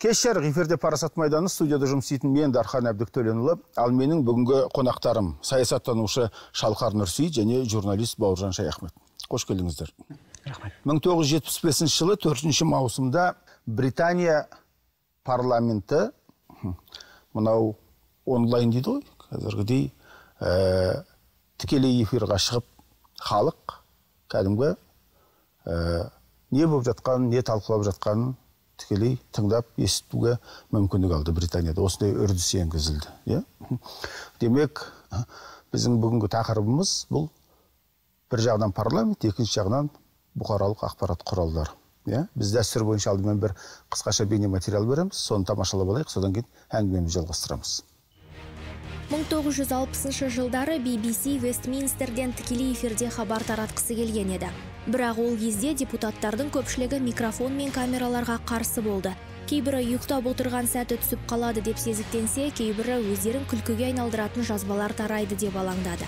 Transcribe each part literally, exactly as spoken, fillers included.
Кеш жарық эфирде Парасат майданы, студияда жұмыс істейтін мен Дархан Әбдіктөленұлы, ал менің бүгінгі қонақтарым саясаттанушы Шалқар Нұрсейіт және журналист Бауыржан Шаяхмет. Қош келдіңіздер. мың тоғыз жүз жетпіс бесінші жылы төртінші маусымда Британия парламенті, мынау онлайн дейді ғой, қазіргідей ә, тікелей эфирға шығып, халық кәдімгі ә, не болып жатқанын, не талқылап жатқанын тікелей тыңдап естуге мүмкіндік алды Британияда. Осындай үрдіс енгізілді. Yeah? Демек, біздің бүгінгі тақырыбымыз бұл бір жағынан парламент, екінші жағынан бұқаралық ақпарат құралдары. Yeah? Біз дәстүр бойынша алдымен бір қысқаша бейне материал береміз, соны тамашалап алайық, содан кейін әңгімемізді жалғастырамыз. мың тоғыз жүз алпысыншы жылдары би би си Вестминстерден тікелей эфирде хабар таратқысы келген еді. Бірақ ол кезде депутаттардың көпшілігі микрофон мен камераларға қарсы болды. Кейбірі ұйықтап отырған сәті түсіп қалады деп сезіктенсе, кейбірі өздерін күлкіге айналдыратын жазбалар тарайды деп алаңдады.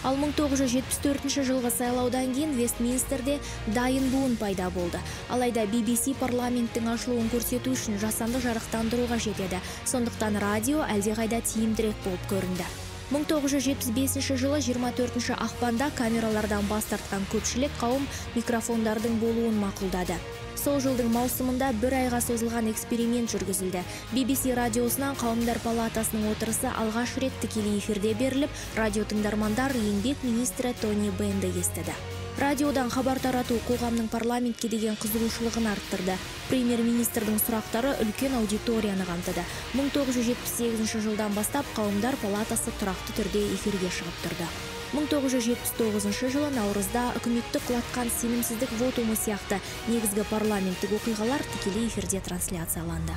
Ал мың тоғыз жүз жетпіс төртінші жылғы сайлаудан кейін Вестминстерде дайын буын пайда болды. Алайда би би си парламенттің ашылуын көрсету үшін жасанды жарықтандыруға жетеді. Сондықтан радио әлдеқайда тиімдірек болып көрінді. мың тоғыз жүз жетпіс бесінші жылы жиырма төртінші ақпанда камералардан бас тартқан көпшілік қауым микрофондардың болуын мақұлдады. Сол жылдың маусымында бір айға созылған эксперимент жүргізілді. би би си радиосынан қауымдар палатасының отырысы алғаш рет тікелей эфирде беріліп, радио тыңдармандар еңбек министрі Тони Беннді естіді. Радиодан хабар тарату қоғамның парламентке деген қызығушылығын арттырды. Премьер-министрдің сұрақтары үлкен аудиторияны қамтыды. мың тоғыз жүз жетпіс сегізінші жылдан бастап қауымдар палатасы тұрақты түрде эфирге шығып тұрды. мың тоғыз жүз жетпіс тоғызыншы жылы наурызда үкіметті құлатқан сенімсіздік вотумы сияқты негізгі парламенттік оқиғалар тікелей эфирде трансляцияланды.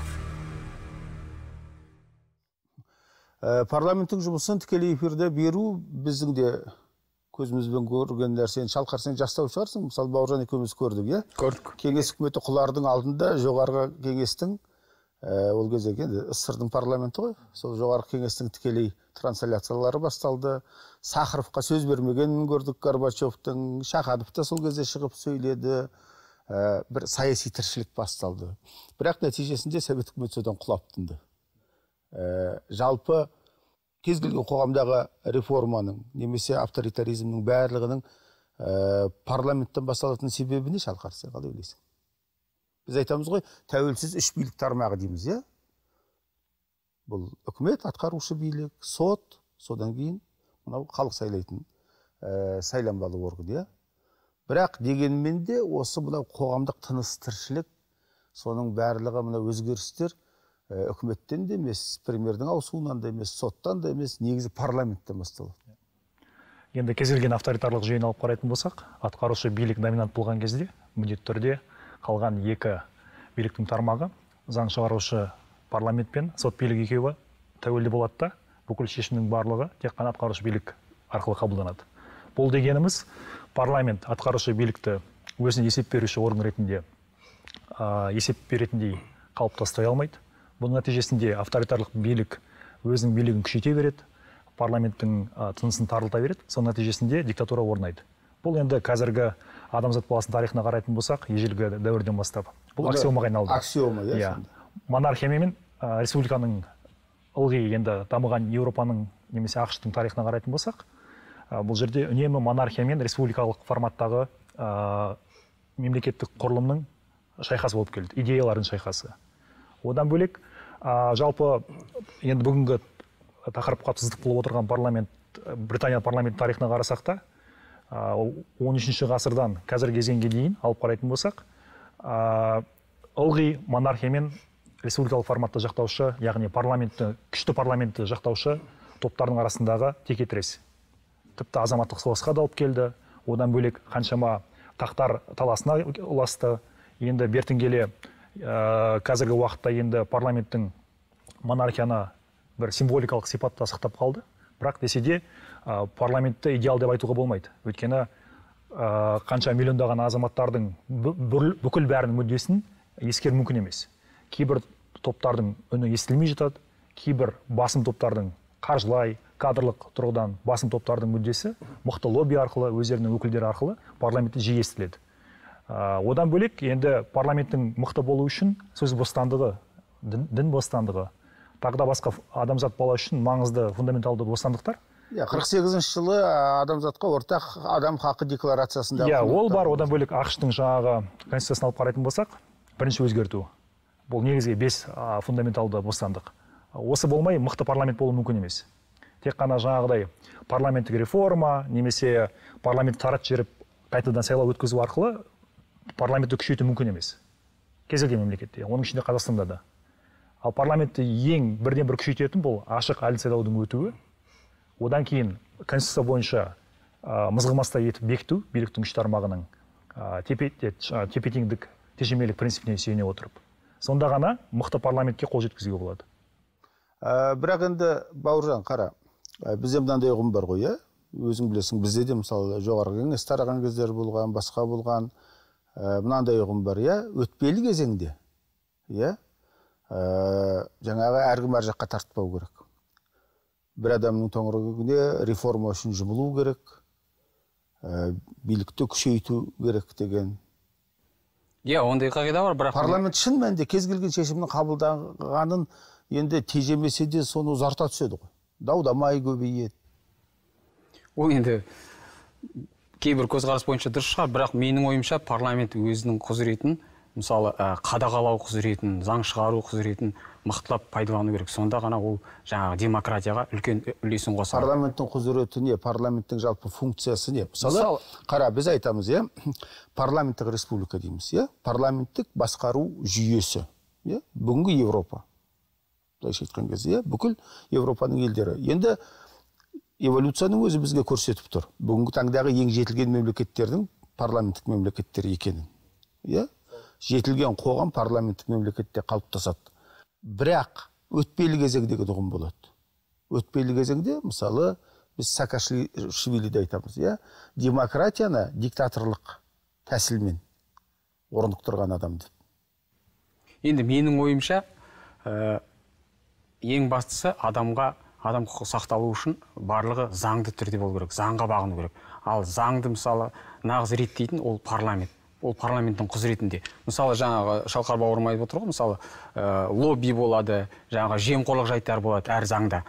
Парламенттің жұмысын тікелей эфирде беру біздің де көзімізбен көрген нәрсені. Шалқар, сен жастау шығарсың, мысалы Бауыржан екеуміз көрдік, иә? Көрдік. Кеңес үкіметі құлардың алдында жоғарғы кеңестің, ол кезде СССР-дың парламенті ғой, сол жоғарғы кеңестің тікелей трансляциялары басталды. Сахаровқа сөз бермегенін көрдік, Горбачевтың, Шаханов та сол кезде шығып сөйледі, бір саяси тіршілік басталды. Бірақ нәтижесінде Совет үкіметі содан құлап тынды. Жалпы кез келген қоғамдағы реформаның, немесе авторитаризмнің барлығының парламенттен басталатын себебі не, Шалқар, сен қалай ойлайсың? Біз айтамыз ғой, тәуелсіз үш билік тармағы дейміз, иә? Бұл үкімет, атқарушы билік, сот, содан кейін мынау халық сайлайтын сайланбалы орган, иә? Бірақ дегенмен де осы мынау қоғамдық тыныс тіршілік, соның барлығы мынау өзгерістер үкіметтен де емес, премьердің ауысуынан да емес, соттан да емес, негізі парламенттен басталады. Енді кез келген авторитарлық жүйені алып қарайтын болсақ, атқарушы билік доминант болған кезде, міндетті түрде қалған екі биліктің тармағы, заң шығарушы парламент пен сот билік екеуі тәуелді болады да, бүкіл шешімнің барлығы тек қана атқарушы билік арқылы қабылданады. Бұл дегеніміз, парламент атқарушы билікті өзіне есеп беруші орган ретінде есеп беретіндей қалыптастай алмайды. Бұның нәтижесінде авторитарлық билік өзінің билігін күшейте береді, парламенттің тынысын тарылта береді, соның нәтижесінде диктатура орнайды. Бұл енді қазіргі адамзат баласының тарихына қарайтын болсақ, ежелгі дәуірден бастап. Бұл аксиомаға айналды. Аксиома, иә. Монархия мен республиканың ылғи енді дамыған Еуропаның немесе ақш-тың тарихына қарайтын болсақ, бұл жерде үнемі монархия мен республикалық форматтағы мемлекеттік құрылымның шайқасы болып келді, идеялардың шайқасы. Одан бөлек, жалпы енді бүгінгі тақырыпқа тұздық болып отырған парламент, Британия парламент тарихына қарасақ та, он үшінші ғасырдан қазіргі кезеңге дейін алып қарайтын болсақ, ылғи монархия мен республикалық форматты жақтаушы, яғни парламентті, күшті парламентті жақтаушы топтардың арасындағы текетірес. Тіпті азаматтық соғысқа да алып келді. Одан бөлек қаншама тақтар таласына ұласты. Енді бертін келе қазіргі уақытта енді парламенттің монархияны бір символикалық сипатта сақтап қалды. Бірақ десе де парламентті идеал деп айтуға болмайды. Өйткені қанша миллиондаған азаматтардың бүкіл бәрінің мүддесін ескеру мүмкін емес. Кейбір топтардың үні естілмей жатады, кейбір басым топтардың қаржылай, кадрлық тұрғыдан басым топтардың мүддесі мықты лобби арқылы, өздерінің өкілдері арқылы парламентте жиі естіледі. Одан бөлек, енді парламенттің мықты болу үшін сөз бостандығы дін, дін бостандығы, тағы да басқа адамзат бала үшін маңызды фундаменталды бостандықтар. қырық сегізінші жылы адамзатқа ортақ адам хақы декларациясында. Иә, ол бар. Одан бөлек ақш-тың жаңағы конституциясын алып қарайтын болсақ, бірінші өзгерту. Бұл негізгі бес фундаменталды бостандық. Осы болмай мықты парламент болу мүмкін емес. Тек қана жаңағыдай парламенттік реформа, немесе парламент тарат жеріп қайтадан сайлау өткізу арқылы парламентті күшейту мүмкін емес. Кез келген мемлекетте, оның ішінде Қазақстанда да. Ал парламентті ең бірден бір күшейтетін бұл ашық әділ сайлаудың өтуі. Одан кейін конституция бойынша мызғымастай етіп бекіту, биліктің үш тармағының тепе-теңдік, тежемелік принципіне сүйене отырып. Сонда ғана мықты парламентке қол жеткізуге болады. Бірақ енді Бауыржан, қара, бізде мынандай ұғым бар ғой, өзің білесің, бізде де мысалы жоғарғы кеңес тараған кездер болған, басқа болған, мынандай ұғым бар, өтпелі кезеңде, жаңағы әркім әр жаққа тартпау керек. Бір адамның төңірегіне реформа үшін жұмылу керек, билікті күшейту керек деген. Иә, ондай қағида бар, бірақ парламент шын мәнінде кез келген шешімнің қабылданғанын енді тежемесе де соны ұзарта түседі ғой. Дау-дамай көбейеді. Ол енді кейбір көзқарас бойынша дұрыс шығар, бірақ менің ойымша парламент өзінің құзыретін, мысалы, қадағалау құзыретін, заң шығару құзыретін мықтылап пайдалану керек. Сонда ғана ол жаңағы демократияға үлкен үлесін қосады. Парламенттің құзыреті не? Парламенттің жалпы функциясы не? Мысалы, қара, біз айтамыз, иә, парламенттік республика дейміз, иә, парламенттік басқару жүйесі, иә, бүгінгі Европа. Былайша айтқан кезде, иә, бүкіл Европаның елдері. Енді эволюцияның өзі бізге көрсетіп тұр. Бүгінгі таңдағы ең жетілген мемлекеттердің парламенттік мемлекеттер екенін. Иә? Жетілген қоғам парламенттік мемлекетте қалыптасады. Бірақ өтпелі кезең деген ұғым болады. Өтпелі кезеңде, мысалы, біз Саакашвилиді айтамыз, иә? Демократияны диктаторлық тәсілмен орнықтырған адам деп. Енді менің ойымша, ең бастысы адамға адам құқығы сақталу үшін барлығы заңды түрде болу керек, заңға бағыну керек. Ал заңды мысалы нағыз реттейтін ол парламент. Ол парламенттің құзыретінде. Мысалы, жаңағы Шалқар бауырым айтып отыр ғой, мысалы, лобби болады, жаңағы жемқорлық жайттар болады әр заңда.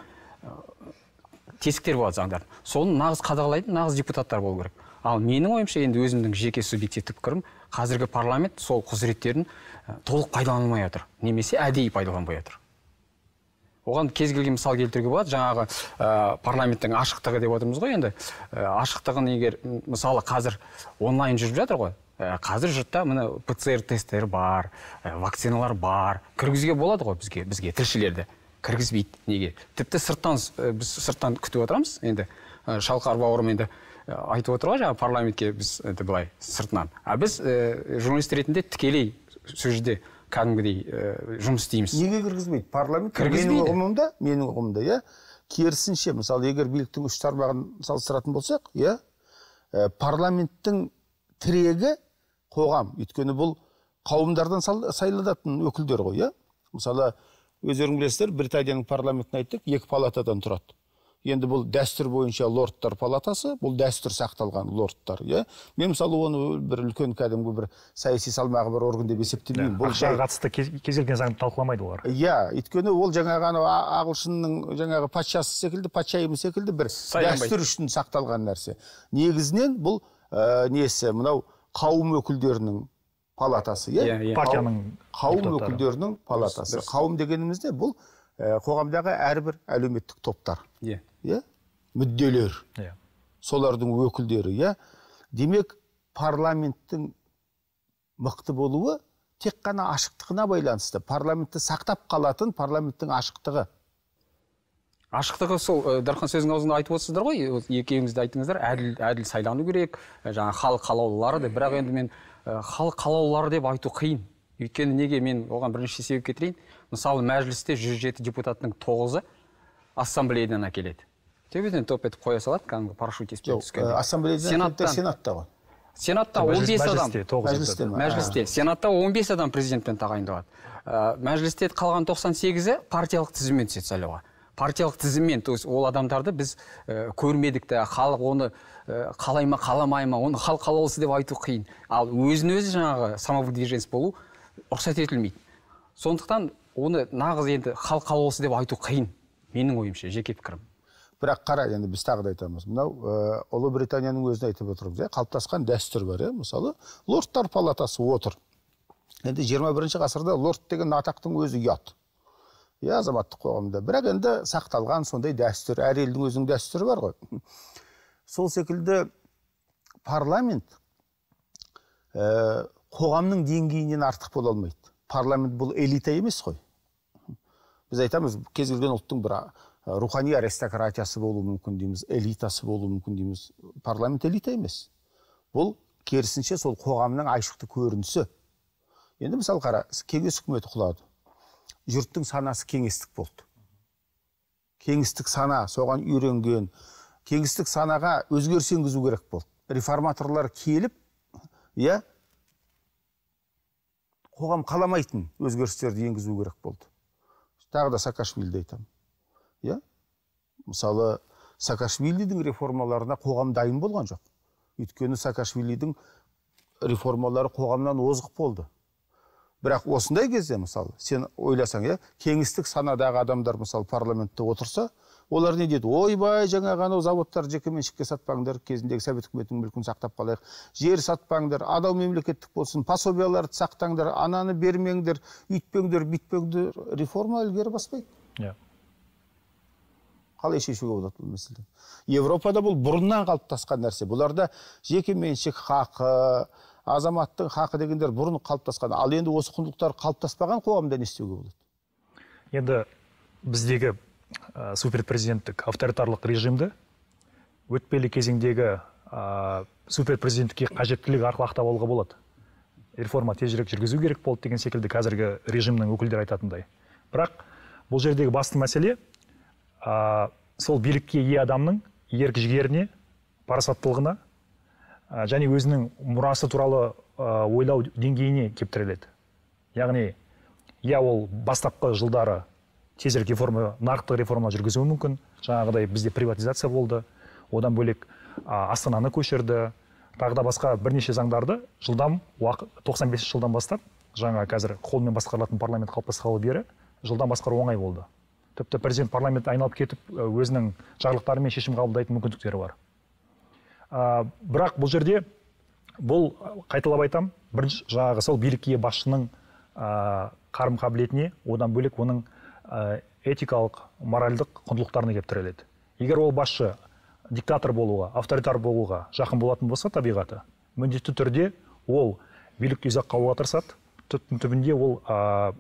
Тесіктер болады заңдар. Соны нағыз қадағалайтын нағыз депутаттар болу керек. Ал менің ойымша, енді өзімнің жеке субъективті пікірім, қазіргі парламент сол құзыреттерін толық пайдаланылмай отыр, немесе әдейі пайдаланбай отыр. Оған кез келген мысал келтіруге болады. Жаңағы парламенттің ашықтығы деп отырмыз ғой, енді ашықтығын егер мысалы қазір онлайн жүріп жатыр ғой. Қазір жұртта мына пэ цэ эр тесттер бар, вакциналар бар. Кіргізуге болады ғой бізге, бізге тілшілерді. Кіргізбейді. Неге? Тіпті сырттан біз сырттан күтіп отырамыз. Енді Шалқар бауырым енді айтып отыр ғой, жаңағы парламентке біз енді былай сыртынан. А біз журналист ретінде тікелей сол жерде кәдімгідей жұмыс істейміз. Неге кіргізбейді? Парламент менің ұғымымда, менің ұғымымда, иә, керісінше, мысалы, егер биліктің үш тармағын салыстыратын болсақ, иә, парламенттің тірегі қоғам, өйткені бұл қауымдардан сайланатын өкілдер ғой, иә. Мысалы, өздерің білесіздер, Британияның парламентін айттық, екі палатадан тұрады. Енді бұл дәстүр бойынша лордтар палатасы, бұл дәстүр сақталған лордтар, иә. Мен мысалы оны бір үлкен кәдімгі бір саяси салмағы бір орган деп есептемеймін. Ақшаға қатысты кез келген заңды талқыламайды олар. Иә, өйткені ол жаңағы ағылшынның жаңағы патшасы секілді, патшайымы секілді бір дәстүр үшін сақталған нәрсе. Негізінен бұл несі, мынау қауым өкілдерінің палатасы, иә. Партияның қауым өкілдерінің палатасы. Қауым дегенімізде бұл қоғамдағы әрбір әлеуметтік топтар. Иә. Иә? Мүдделер. Иә. Солардың өкілдері, иә. Демек, парламенттің мықты болуы тек қана ашықтығына байланысты. Парламентті сақтап қалатын парламенттің ашықтығы. Ашықтығы сол, Дархан сөзің аузында айтып отырсыздар ғой, екеуіңізді айтыңыздар, әділ, әділ сайлану керек, жаңа халық қалаулылары деп, бірақ енді мен халық қалаулылары деп айту қиын. Өйткені неге мен оған бірінші себеп кетірейін. Мысалы, мәжілісте жүз жеті депутаттың тоғызы ассамблеядан әкеледі. Төбеден топ етіп қоя салады, кәдімгі парашют еспен түскен. Ассамблеядан сенатта ғой. Сенатта он бес адам. Мәжілісте. Сенатта он бес адам президентпен тағайындалады. Мәжілісте қалған тоқсан сегізі партиялық тізіммен түседі сайлауға. Партиялық тізіммен, то есть ол адамдарды біз көрмедік те, халық оны қалай ма, қаламай ма, оны халық қалаулысы деп айту қиын. Ал өзін өзі жаңағы самовыдвиженец болу рұқсат етілмейді. Сондықтан оны нағыз енді халық қалаулысы деп айту қиын, менің ойымша, жеке пікірім. Бірақ қара, енді біз тағы да айтамыз. Мынау Ұлыбританияның өзін айтып отырмыз. Қалыптасқан дәстүр бар, мысалы, лордтар палатасы отыр. Енді жиырма бірінші ғасырда лорд деген атақтың өзі ұят. Я азаматтық қоғамда. Бірақ енді сақталған сондай дәстүр, әр елдің өзінің дәстүрі бар ғой. Сол секілді парламент қоғамның деңгейінен артық бола алмайды. Парламент бұл элита емес қой. Біз айтамыз, кез келген ұлттың бір рухани аристократиясы болуы мүмкін дейміз, элитасы болуы мүмкін дейміз. Парламент элита емес. Бұл керісінше сол қоғамның айшықты көрінісі. Енді мысалы қара, кеңес үкіметі құлады. Жұрттың санасы кеңестік болды. Кеңестік сана, соған үйренген, кеңестік санаға өзгеріс енгізу керек болды. Реформаторлар келіп, иә, қоғам қаламайтын өзгерістерді енгізу керек болды. Тағы да Саакашвилиді айтамын. Иә? Мысалы, Саакашвилидің реформаларына қоғам дайын болған жоқ. Өйткені Саакашвилидің реформалары қоғамнан озық болды. Бірақ осындай кезде, мысалы, сен ойласаң, иә, кеңістік санадағы адамдар, мысалы, парламентте отырса, олар не дейді? Ойбай, жаңа ғана заводтар жекеменшікке сатпаңдар, кезіндегі совет үкіметінің мүлкін сақтап қалайық. Жер сатпаңдар, адал мемлекеттік болсын, пособияларды сақтаңдар, ананы бермеңдер, үйтпеңдер, бүйтпеңдер. Реформа ілгері баспайды. Иә. Қалай шешуге болады бұл мәселе? Европада бұл бұрыннан қалыптасқан нәрсе. Бұларда жекеменшік хақы, азаматтың хақы дегендер бұрын қалыптасқан. Ал енді осы құндылықтар қалыптаспаған қоғамда не істеуге болады? Енді біздегі ә, суперпрезиденттік авторитарлық режимді өтпелі кезеңдегі ә, суперпрезиденттікке қажеттілік арқылы ақтап алуға болады. Реформа тезірек жүргізу керек болды деген секілді қазіргі режимнің өкілдері айтатындай. Бірақ бұл жердегі басты мәселе ә, сол билікке ие адамның ерік жігеріне, парасаттылығына және өзінің мұрасы туралы ә, ойлау деңгейіне кептіріледі. Яғни, я ол бастапқы жылдары тезірек реформа, нарықтық реформа жүргізуі мүмкін. Жаңағыдай бізде приватизация болды, одан бөлек ә, Астананы көшірді, тағы да басқа бірнеше заңдарды жылдам, тоқсан бесінші жылдан бастап, жаңа қазір қолмен басқарылатын парламент қалыптасқалы бері жылдан басқару оңай болды. Тіпті президент парламент айналып кетіп, өзінің жарлықтарымен шешім қабылдайтын мүмкіндіктері бар. Uh, бірақ бұл жерде бұл қайталап айтам, бірінші жаңағы сол билікке басшының uh, қарым қабілетіне, одан бөлек оның uh, этикалық, моральдық құндылықтарына кептіріледі. Егер ол басшы диктатор болуға, авторитар болуға жақын болатын болса табиғаты, міндетті түрде ол билікті ұзаққа алуға тырысады, түбінде ол uh,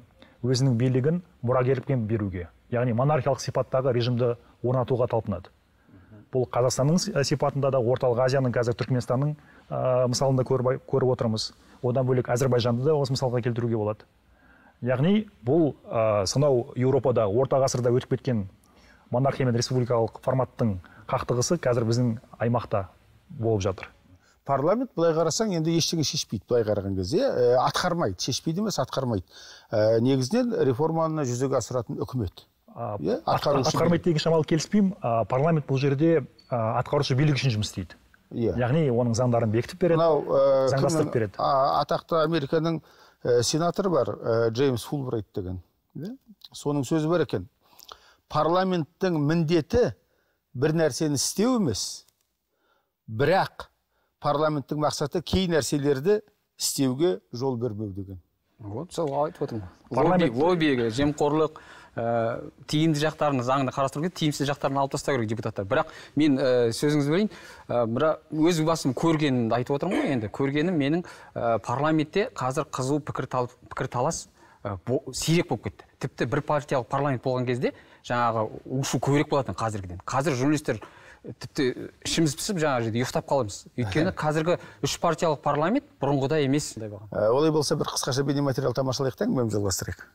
өзінің билігін мұрагерлікпен беруге, яғни монархиялық сипаттағы режимді орнатуға талпынады. Бұл Қазақстанның сипатында да, орталық Азияның, қазір Түркменстанның ә, мысалында көріп, көріп отырмыз. Одан бөлек Әзірбайжанды да осы мысалға келтіруге болады. Яғни бұл ә, сонау Еуропада орта ғасырда өтіп кеткен монархия мен республикалық форматтың қақтығысы қазір біздің аймақта болып жатыр. Парламент былай қарасаң енді ештеңе шешпейді, былай қараған кезде ә, атқармайды, шешпейді емес, атқармайды. Ә, негізінен реформаны жүзеге асыратын үкімет. Yeah, атқармайды деген шамалы келіспеймін. Парламент бұл жерде атқарушы билік үшін жұмыс істейді. Yeah. Яғни оның заңдарын бекітіп береді, uh, заңдастырып береді. Атақты Американың uh, сенаторы бар, uh, Джеймс Фулбрайт деген. Yeah? Соның сөзі бар екен. Парламенттің міндеті бір нәрсені істеу емес, бірақ парламенттің мақсаты кей нәрселерді істеуге жол бермеу деген. Вот, сол айтып отырмын. Парламент лобби, жемқорлық, Ә, тиімді жақтарын заңында қарастыру керек, тиімсіз жақтарын алып тастау керек депутаттар. Бірақ мен ә, сөзіңізді білейін, ә, бірақ өз басым көргенімді айтып отырмын ғой енді. Көргенім менің ә, парламентте қазір қызу пікірталас ә, сирек болып кетті. Тіпті бір партиялық парламент болған кезде жаңағы ушу көбірек болатын қазіргіден. Қазір журналистер тіпті ішіміз пісіп жаңағы жерде ұйықтап қаламыз. Өйткені қазіргі үш партиялық парламент бұрынғыдай емес. Олай болса бір қысқаша бейнематериал тамашалайық та әңгімемізді жалғастырайық.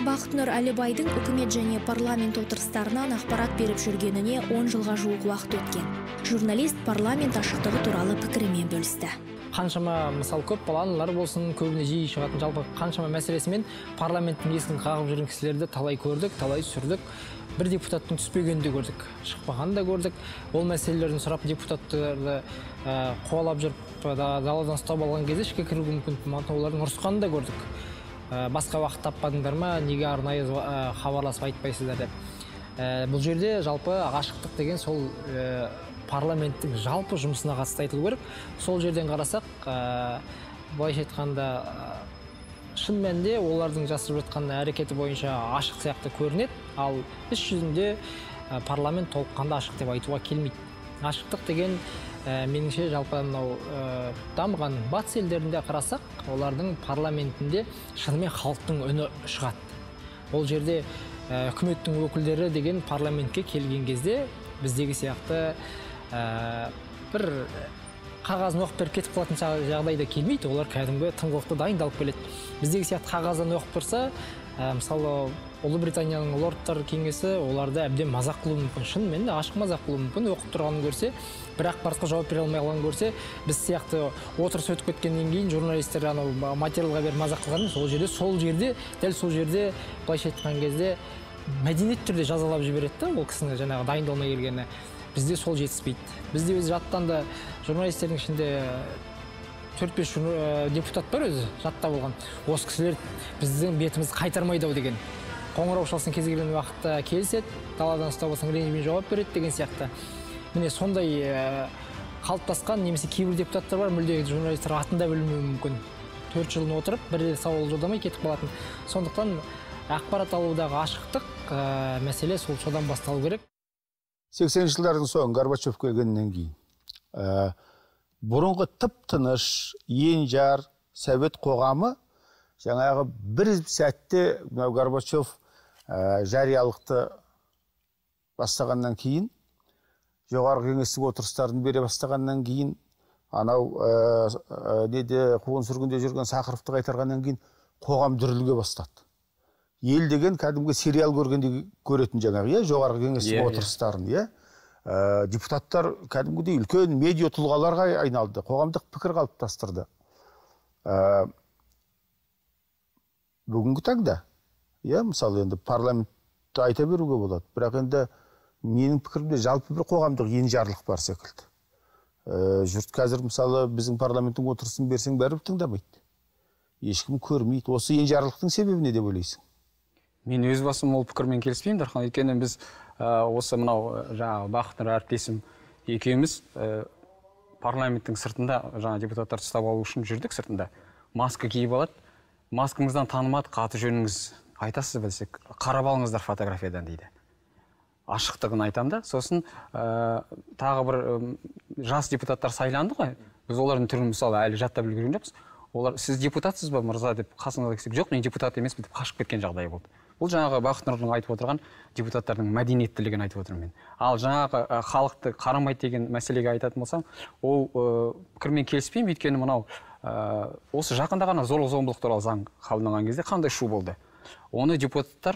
Бақытнұр Әлібайдың үкімет және парламент отырыстарынан ақпарат беріп жүргеніне он жылға жуық уақыт өткен. Журналист парламент ашықтығы туралы пікірімен бөлісті. Қаншама мысал көп балалар болсын, көбіне жиі шығатын жалпы қаншама мәселесімен парламенттің есігін қағып жүрген кісілерді талай көрдік, талай сүрдік. Бір депутаттың түспегенін де көрдік, шықпағанын да көрдік. Ол мәселелерін сұрап депутаттарды қуалап жүріп даладан ұстап алған кезде ішке кіруге мүмкін олардың ұрысқанын да көрдік. басқа уақыт таппадыңдар ма, неге арнайы хабарласып айтпайсыздар деп. Бұл жерде жалпы ғашықтық деген сол парламенттің жалпы жұмысына қатысты айтылу керек. Сол жерден қарасақ, былайша айтқанда, шын мәнінде олардың жасырып жатқан әрекеті бойынша ашық сияқты көрінеді, ал іс жүзінде парламент толыққанды ашық деп айтуға келмейді. Ашықтық деген меніңше жалпы мынау дамыған батыс елдерінде қарасақ, олардың парламентінде шынымен халықтың үні шығады. Ол жерде үкіметтің өкілдері деген парламентке келген кезде біздегі сияқты бір қағазын оқып беріп кетіп қалатын жағдайда келмейді. Олар кәдімгі тыңғылықты дайындалып келеді. Біздегі сияқты қағаздан оқып тұрса, мысалы Ұлыбританияның лордтар кеңесі оларды әбден мазақ қылуы мүмкін, шынымен ашық мазақ қылуы мүмкін. Оқып тұрғанын көрсе, бір ақпаратқа жауап бере алмай қалғанын көрсе, біз сияқты отырыс өтіп кеткеннен кейін журналистер анау материалға беріп мазақ қылған, сол жерде сол жерде дәл сол жерде былайша айтқан кезде мәдениет түрде жазалап жібереді да, ол кісіні жаңағы дайындалмай келгені. Бізде сол жетіспейді. Бізде өзі жаттан да журналистердің ішінде төрт бес депутат бар өзі жатта болған. Осы кісілер біздің бетімізді қайтармайды ау деген. Қоңырау шалсын кез келген уақытта келіседі, даладан ұстап алсаң ренжімен жауап береді деген сияқты. Міне сондай қалыптасқан немесе кейбір депутаттар бар, мүлде журналистер атын да білмеуі мүмкін. төрт жылын отырып, бір рет сауал жолдамай кетіп қалатын. Сондықтан ақпарат алудағы ашықтық мәселе сол содан басталу керек. сексенінші жылдардың соң Горбачев келгеннен кейін бұрынғы тып-тыныш, енжар, совет қоғамы жаңағы бір сәтте Горбачев жариялықты бастағаннан кейін, жоғарғы кеңестік отырыстарын бере бастағаннан кейін, анау неде қуғын сүргінде жүрген Сахаровты қайтарғаннан кейін қоғам дүрілге бастады. Ел деген кәдімгі сериал көргенде көретін жаңағы, жоғарғы кеңестік отырыстарын, депутаттар кәдімгідей үлкен медиа тұлғаларға айналды, қоғамдық пікір қалыптастырды. Бүгінгі таңда, мысалы енді парламентті айта беруге болады, бірақ енді менің пікірімде жалпы бір қоғамдық енжарлық бар секілді. Жұрт қазір мысалы біздің парламенттің отырысын берсең бәрібір тыңдамайды. Ешкім көрмейді. Осы енжарлықтың себебі не деп ойлайсың? Мен өз басым ол пікірмен келіспеймін, Дархан. Өйткені біз осы мынау жаңағы Бақытнұр әріптесім екеуміз парламенттің сыртында жаңа депутаттарды ұстап алу үшін жүрдік сыртында. Маска киіп алады. Маскаңыздан танымады, аты жөніңіз айтасыз білсек, қарап алыңыздар фотографиядан дейді. Ашықтығын айтам да. Сосын тағы бір жас депутаттар сайланды ғой. Біз олардың түрін мысалы әлі жаттап үлгерген жоқпыз. Олар сіз депутатсыз ба мырза деп қасыңызға келсек, жоқ, мен депутат емеспін деп қашып кеткен жағдай болды. Бұл жаңағы Бақытнұрдың айтып отырған депутаттардың мәдениеттілігін айтып отырмын мен. Ал жаңағы халықты қарамайды деген мәселеге айтатын болсам, ол пікірмен келіспеймін, өйткені мынау осы жақында ғана зорлық-зомбылық туралы заң қабылданған кезде қандай шу болды. Оны депутаттар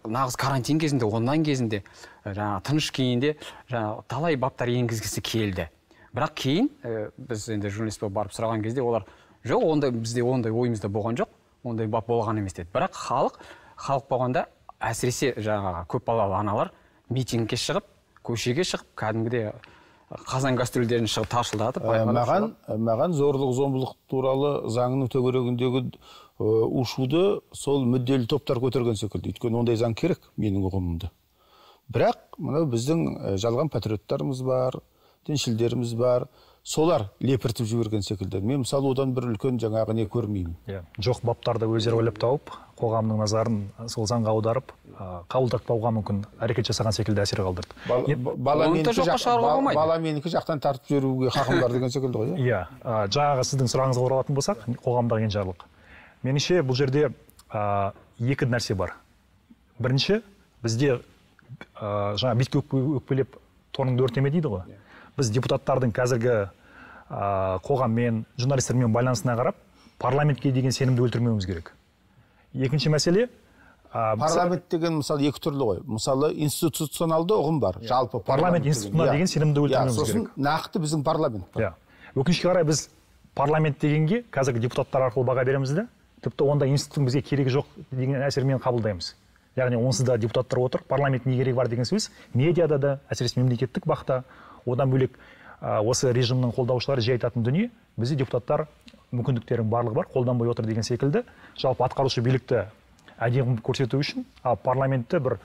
нағыз карантин кезінде, онлайн кезінде, жаңа тыныш күйінде жаңа талай баптар енгізгісі келді. Бірақ кейін біз енді журналист болып барып сұраған кезде олар жоқ, ондай бізде ондай ойымызда болған жоқ, ондай бап болған емес деді. Бірақ халық, халық болғанда әсіресе жаңағы көп балалы аналар митингке шығып, көшеге шығып, кәдімгідей қазан кастрюльдерін шығып таршылдатып, маған маған зорлық-зомбылық туралы заңның төңірегіндегі ушуды сол мүдделі топтар көтерген секілді. Өйткені ондай заң керек менің ұғымымда. Бірақ мынау біздің жалған патриоттарымыз бар, діншілдеріміз бар. Солар лепіртіп жіберген секілді. Мен мысалы одан бір үлкен жаңағы не көрмеймін. Жоқ баптарды өздері ойлап тауып, қоғамның назарын сол заңға аударып, қабылдатпауға мүмкін әрекет жасаған секілді әсер қалдырды. Бала менікі жақтан тартып жіберуге хақым бар деген секілді ғой. Иә, жаңағы сіздің сұрағыңызға оралатын болсақ, қоғамдағы енжарлық. Меніңше бұл жерде екі нәрсе бар. Бірінші, бізде жаңа битке өкпелеп торыңды өртеме дейді ғой. Біз депутаттардың қазіргі қоғаммен, журналистермен байланысына қарап, парламентке деген сенімді өлтірмеуіміз керек. Екінші мәселе... Парламент деген мысалы екі түрлі ғой. Мысалы институционалды ұғым бар. Жалпы парламент институтына деген сенімді өлтірмеуіміз керек. Сосын нақты біздің парламент бар. Өкінішке қарай біз парламент дегенге қазіргі депутаттар арқылы баға береміз де, тіпті онда институттың бізге керегі жоқ деген әсермен қабылдаймыз. Яғни онсыз да депутаттар отыр, парламент не керегі бар деген сөз, медиада да, әсіресе мемлекеттік бақта, одан бөлек осы режимнің қолдаушылары жай айтатын дүние, бізде депутаттар мүмкіндіктерің барлығы бар, қолданбай отыр деген секілді, жалпы атқарушы билікті әдемі көрсету үшін, ал парламентті бір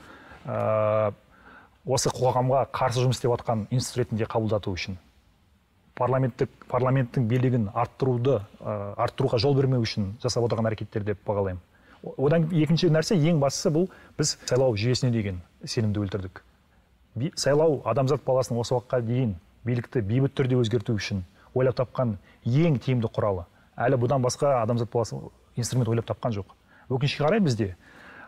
ә, осы қоғамға қарсы жұмыс істеп жатқан институт ретінде қабылдату үшін, парламенттік парламенттің билігін арттыруды ә, арттыруға жол бермеу үшін жасап отырған әрекеттер деп бағалаймын. Одан екінші нәрсе, ең бастысы бұл біз сайлау жүйесіне деген сенімді өлтірдік. Сайлау адамзат баласының осы уақытқа дейін билікті бейбіт түрде өзгерту үшін ойлап тапқан ең тиімді құралы. Әлі бұдан басқа адамзат баласы инструмент ойлап тапқан жоқ. Өкінішке қарай бізде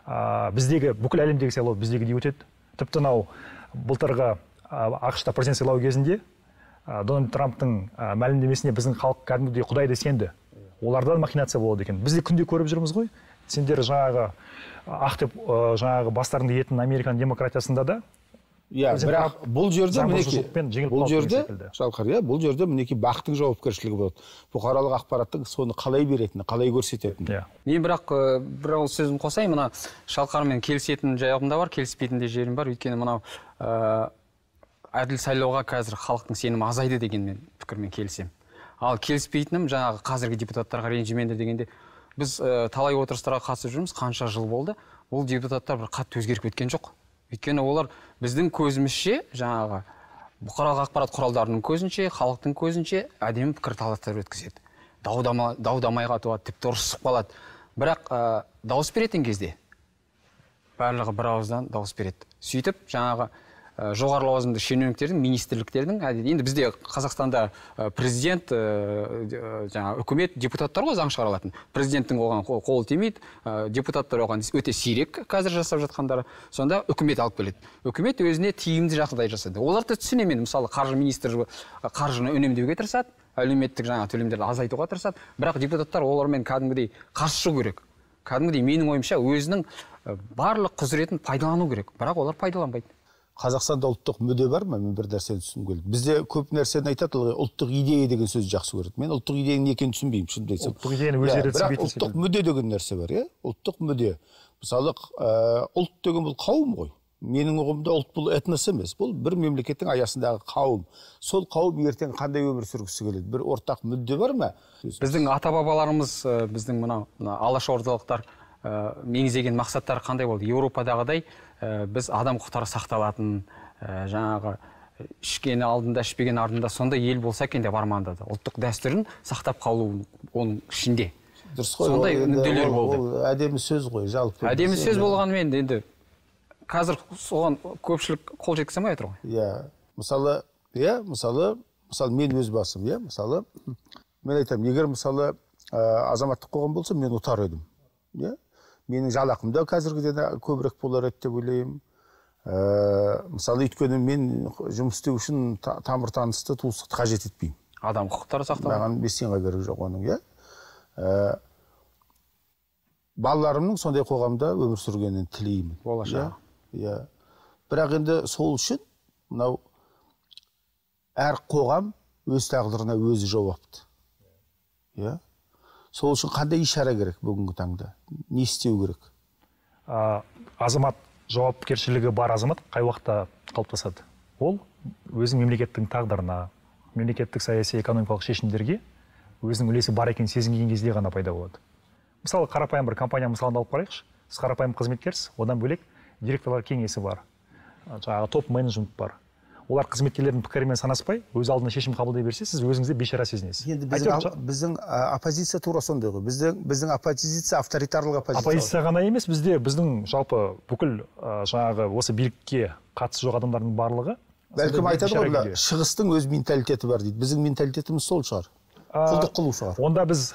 ә, біздегі бүкіл әлемдегі сайлау біздегі деп өтеді. Тіпті мынау былтырғы ақш та президент сайлауы кезінде ә, Дональд Трамптың ә, мәлімдемесіне біздің халық кәдімгідей құдайды сенді. Оларда махинация болады екен. Біз де күнде көріп жүрміз ғой. Сендер жаңағы ақ деп жаңағы бастарыңды етін Американ демократиясында да. Иә, бірақ бұл жерде мінекей, бұл жерде Шалқар, иә, бұл жерде мінекей бақтың жауапкершілігі болады. Бұқаралық ақпараттың соны қалай беретіні, қалай көрсететіні. Мен бірақ бір ауыз сөзім қосайын, мына Шалқармен келісетін жайым да бар, келіспейтін де жерім бар. Өйткені мынау әділ сайлауға қазір халықтың сенімі азайды деген мен пікірмен келісемін. Ал келіспейтінім жаңағы қазіргі депутаттарға ренжімеңдер дегенде, біз талай отырыстарға қатысып жүрміз, қанша жыл болды. Ол депутаттар бір қатты өзгеріп кеткен жоқ. Өйткені олар біздің көзімізше, жаңағы бұқаралық ақпарат құралдарының көзінше, халықтың көзінше әдемі пікір таластар өткізеді. Дау-дамайға туады, тіпті ұрысып қалады. Бірақ дауыс беретін кезде барлығы бір ауыздан дауыс береді. Сөйтіп, жаңағы жоғары лауазымды шенеуніктердің, министрліктердің, енді бізде Қазақстанда президент, жаңа үкімет, депутаттар ғой заң шығарылатын. Президенттің оған қолы тимейді, депутаттар оған өте сирек қазір жасап жатқандары. Сонда үкімет алып келеді. Үкімет өзіне тиімді жағдай жасады. Оларды түсінемін, мысалы қаржы министрі қаржыны үнемдеуге тырысады, әлеуметтік жаңа төлемдерді азайтуға тырысады. Бірақ депутаттар олармен кәдімгідей қарсы шығу керек. Кәдімгідей менің ойымша өзінің барлық құзыретін пайдалану керек. Бірақ олар пайдаланбайды. Қазақстанда ұлттық мүдде бар ма? Мен бір нәрсені түсінгім келді. Бізде көп нәрсені айтады, ұлттық идея деген сөзді жақсы көреді. Мен ұлттық идеяның не екенін түсінбеймін, шынымды айтсам. Ұлттық идеяны өздері түсінбейтін секілді. Ұлттық мүдде деген нәрсе бар, иә? Ұлттық мүдде. Мысалы, ұлт деген бұл қауым ғой. Менің ұғымда ұлт бұл этнос емес. Бұл бір мемлекеттің аясындағы қауым. Сол қауым ертең қандай өмір сүргісі келеді? Бір ортақ мүдде бар ма? Біздің ата-бабаларымыз, біздің мына алашордалықтар меңзеген мақсаттары қандай болды? Еуропадағыдай біз адам құқықтары сақталатын, жаңағы ішкені алдында, ішпеген артында сондай ел болса екен деп армандады. Ұлттық дәстүрін сақтап қалу оның ішінде. Сондай мүдделер болды. Ол әдемі сөз ғой, жалпы. Әдемі сөз болғанымен енді қазір соған көпшілік қол жеткізе алмай отыр ғой. Иә, мысалы, иә, мысалы, мысалы мен өз басым, иә, мысалы, мен айтамын, егер мысалы азаматтық қоғам болса, мен ұтар едім. Иә? Менің жалақым да қазіргіден көбірек болар еді деп ойлаймын. Мысалы, өйткені мен жұмыс істеу үшін тамыр танысты, туыстықты қажет етпеймін. Адам құқықтары сақталады. Маған бес тиынға керек жоқ оның, иә. Балаларымның сондай қоғамда өмір сүргенін тілеймін. Болашақ. Иә. Бірақ енді сол үшін мынау әр қоғам өз тағдырына өзі жауапты. Иә. Сол үшін қандай ишара керек бүгінгі таңда? Не істеу керек? Азамат жауапкершілігі бар азамат қай уақытта қалыптасады? Ол өзінің мемлекеттің тағдырына, мемлекеттік саяси экономикалық шешімдерге өзінің үлесі бар екенін сезінген кезде ғана пайда болады. Мысалы, қарапайым бір компания мысалын алып қарайықшы. Сіз қарапайым қызметкерсіз, одан бөлек директорлар кеңесі бар. Жаңағы топ менеджмент бар. Олар қызметкерлердің пікірімен санаспай, өз алдына шешім қабылдай берсе, сіз өзіңізді бейшара сезінесіз. Енді біздің, біздің оппозиция тура сондай ғой. Біздің, біздің оппозиция авторитарлық оппозиция. Оппозиция ғана емес, бізде біздің жалпы бүкіл жаңағы осы билікке қатысы жоқ адамдардың барлығы. Бәлкім айтады ғой, шығыстың өз менталитеті бар дейді. Біздің менталитетіміз сол шығар. Құлдық қылу шығар. Онда біз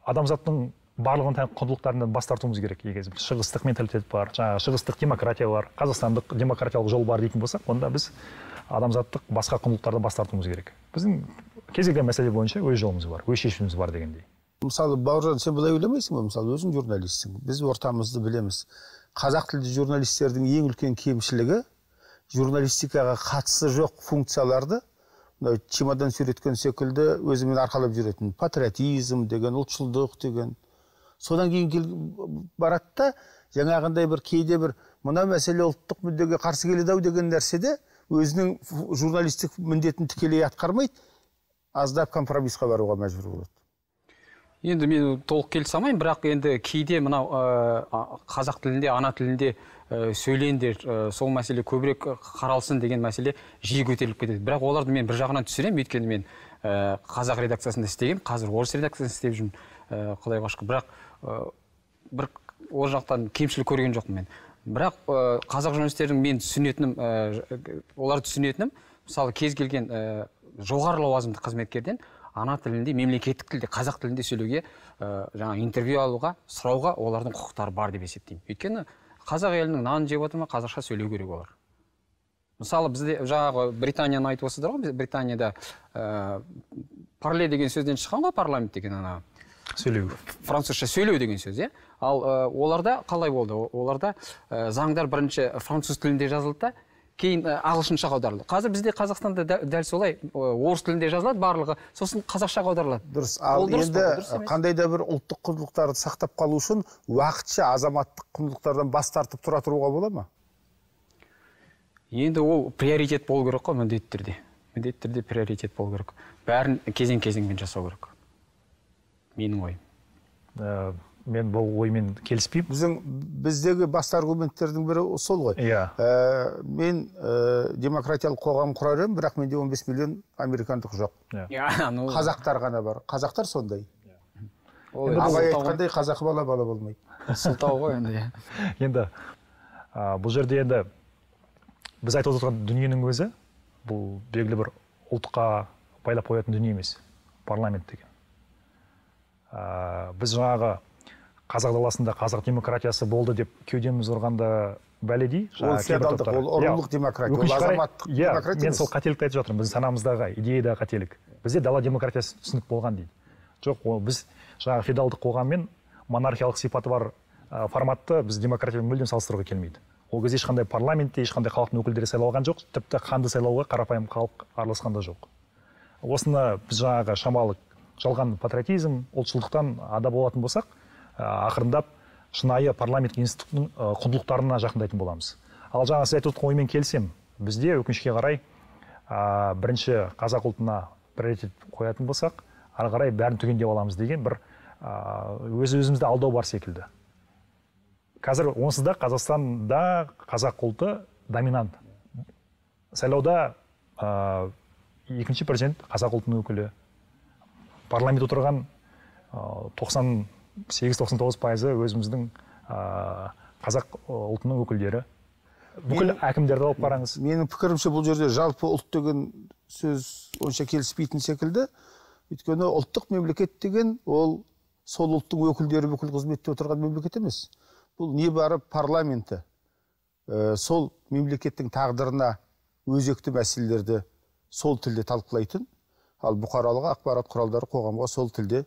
адамзаттың барлығын тән құндылықтарынан бас тартуымыз керек. Егер шығыстық менталитет бар, жаңағы шығыстық демократия бар, қазақстандық демократиялық жол бар дейтін болсақ, онда біз адамзаттық басқа құндылықтардан бас тартуымыз керек. Біздің кез келген мәселе бойынша өз жолымыз бар, өз шешіміміз бар дегендей. Мысалы, Бауыржан, сен былай ойламайсың ба? Мысалы, өзің журналистсің. Біз ортамызды білеміз. Қазақ тілді журналистердің ең үлкен кемшілігі журналистикаға қатысы жоқ функцияларды чемодан сүйреткен секілді өзімен арқалап жүретін. Патриотизм деген, ұлтшылдық деген. Содан кейін барады да, жаңағындай бір кейде бір мына мәселе ұлттық мүддеге қарсы келеді-ау деген нәрседе өзінің журналистік міндетін тікелей атқармайды, аздап компромиссқа баруға мәжбүр болады. Енді мен толық келісе алмаймын, бірақ енді кейде мынау қазақ тілінде, ана тілінде сөйлеңдер, сол мәселе көбірек қаралсын деген мәселе жиі көтеріліп кетеді. Бірақ оларды мен бір жағынан түсіремін, өйткені мен қазақ редакциясында істеген, қазір орыс редакциясында істеп жүрмін, Құдайға шүкір. Бірақ бір ол жақтан кемшілік көрген жоқпын мен. Бірақ қазақ журналистердің мен түсінетінім, оларды түсінетінім, мысалы кез келген жоғары лауазымды қызметкерден ана тілінде, мемлекеттік тілде, қазақ тілінде сөйлеуге, жаңа интервью алуға, сұрауға олардың құқықтары бар деп есептеймін. Өйткені қазақ елінің нанын жеп отыр ма, қазақша сөйлеу керек олар. Мысалы бізде жаңағы Британияны айтып отырсыздар ғой, Британияда парле деген сөзден шыққан ғой, парламент деген ана сөйлеу. Французша сөйлеу деген сөз, иә. Ал оларда қалай болды? Оларда заңдар бірінші француз тілінде жазылды да, кейін ағылшыншаға аударылды. Қазір бізде Қазақстанда дәл солай орыс тілінде жазылады барлығы, сосын қазақшаға аударылады. Дұрыс. Ал енді қандай да бір ұлттық құндылықтарды сақтап қалу үшін уақытша азаматтық құндылықтардан бас тартып тұра тұруға бола ма? Енді ол приоритет болу керек қой, міндетті түрде. Міндетті түрде приоритет болу керек. Бәрін кезең-кезеңмен жасау керек. Менің ойым. Мен бұл оймен келіспеймін. Біздің біздегі басты аргументтердің бірі сол ғой. Иә. Мен демократиялық қоғам құрар едім, бірақ менде он бес миллион американдық жоқ. Қазақтар ғана бар. Қазақтар сондай. Абай айтқандай қазақы бала бала болмайды. Сылтау ғой енді. Енді бұл жерде енді біз айтып отырған дүниенің өзі бұл белгілі бір ұлтқа байлап қоятын дүние емес. Парламент деген. Біз жаңағы қазақ даласында қазақ демократиясы болды деп кеудеміз ұрғанда бәледей. Ол феодалдық, ол ұрлық демократия, ол азаматтық демократия. Мен сол қателікті айтып жатырмын. Біздің санамыздағы идеядағы қателік. Бізде дала демократиясы түсінік болған дейді. Жоқ, біз жаңағы феодалдық қоғаммен монархиялық сипаты бар форматты біз демократиямен мүлдем салыстыруға келмейді. Ол кезде ешқандай парламентте, ешқандай халықтың өкілдері сайланған жоқ, тіпті ханды сайлауға қарапайым халық араласқан да жоқ. Осыны біз жаңағы шамалы жалған патриотизм, ұлтшылдықтан ада болатын болсақ, ақырындап шынайы парламент институтының құндылықтарына жақындайтын боламыз. Ал жаңа сіз айтып отырған оймен келсем, бізде өкінішке қарай бірінші қазақ ұлтына приоритет қоятын болсақ, ары қарай бәрін түгендеп аламыз деген бір өз-өзімізді алдау бар секілді. Қазір онсыз да Қазақстанда қазақ ұлты доминант. Сайлауда екінші президент қазақ ұлтының өкілі. Парламент отырған тоқсан сегіз тоқсан тоғыз пайызы өзіміздің қазақ ұлтының өкілдері. Бүкіл әкімдерді алып қараңыз. Менің пікірімше бұл жерде жалпы ұлт деген сөз онша келіспейтін секілді. Өйткені ұлттық мемлекет деген ол сол ұлттың өкілдері бүкіл қызметте отырған мемлекет емес. Бұл не бары парламенті. Сол мемлекеттің тағдырына өзекті мәселелерді сол тілде талқылайтын, ал бұқаралық ақпарат құралдары қоғамға сол тілде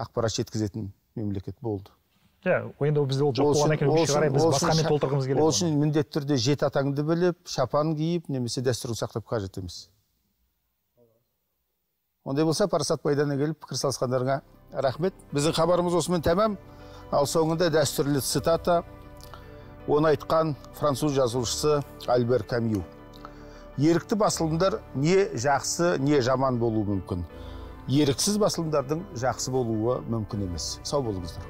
ақпарат жеткізетін мемлекет болды. Иә, енді бізде ол жоқ болғаннан кейін өкінішке қарай біз басқамен толтырғымыз келеді. Ол үшін міндетті түрде жеті атаңды біліп, шапан киіп, немесе дәстүрін сақтап қажет емес. Ондай болса, Парасат Майданына келіп пікір салысқандарыңа рахмет. Біздің хабарымыз осымен тәмам. Ал соңында дәстүрлі цитата, оны айтқан француз жазушысы Альбер Камю. Ерікті басылымдар не жақсы, не жаман болуы мүмкін. Еріксіз басылымдардың жақсы болуы мүмкін емес. Сау болыңыздар.